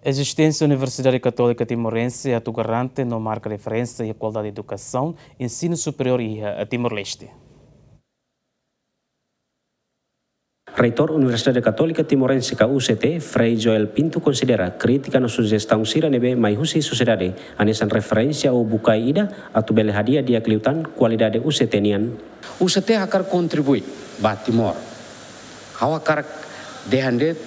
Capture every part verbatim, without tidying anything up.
Ezisténsia Universidade Katólika Timorense atu garante no marka referénsia iha kualidade edukasaun ensinu superiór iha Timor-Leste. Reitór Universidade Katólika Timorense ka U C T, Frei Joel Pinto, konsidera krítika no sujestaun sira ne'ebé mai husi sosiedade hanesan referénsia ou bukae ida atu bele hadi'a di'ak liután kualidade U C T nian. U C T hakarak kontribui ba Timor. Ha'u hakarak dehan de'it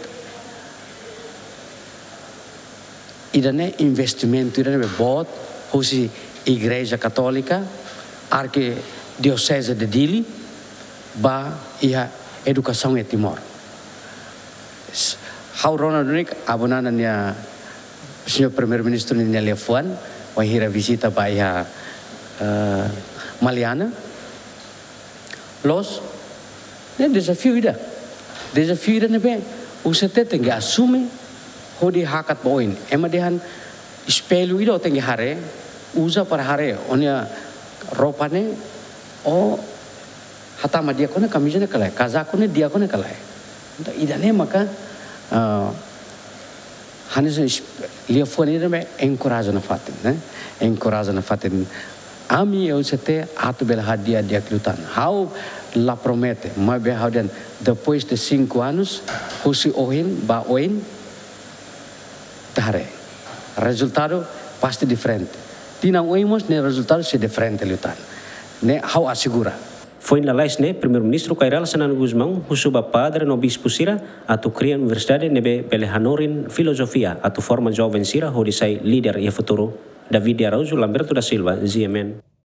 ida-ne'e investimentu ida-ne'e boot husi Igreja Katólika, Arkidioseze de Dili, ba iha edukasaun iha Timor. S-, ha'u rona duni Abu Nana nia, Señór Primeiru-Ministru nia liafuan, wainhira vizita ba iha, eh, Maliana. Loos, ne'e dezafiu ida. Dezafiu ida ne'ebé U C T tenke asume hodi hakat ba oin. Ema dehan espellu ida ó tenke haree, uza para haree ó-nia roupa ne'e, ó hatama di'ak ona kamiza ne'e ka lae, kazaku ne'e di'ak ona ka lae. Entaun, ida-ne'e maka, ah, hanesan es-, liafuan ida ne'ebé enkoraja nafatin, ne'e? Enkoraja nafatin. Ami U C T atu bele hadi'a di'ak liután. Ha'u la promete, maibé ha'u dehan depois de cinco anos, husi ohin ba oin, ita haree. Rezultadu pasti diferente. Tinan oin mós ne'e rezultadu sei diferente liután. Ne'e ha'u asegura. Foin lalais ne'e, Primeiru-Ministru Kay Rala Xanana Gusmão husu ba padre no bispu sira atu kria universidade ne'ebé bele hanorin filozofia atu forma joven sira hodi sai líder iha futuru. David de Araújo, Lamberto da Silva, G M N.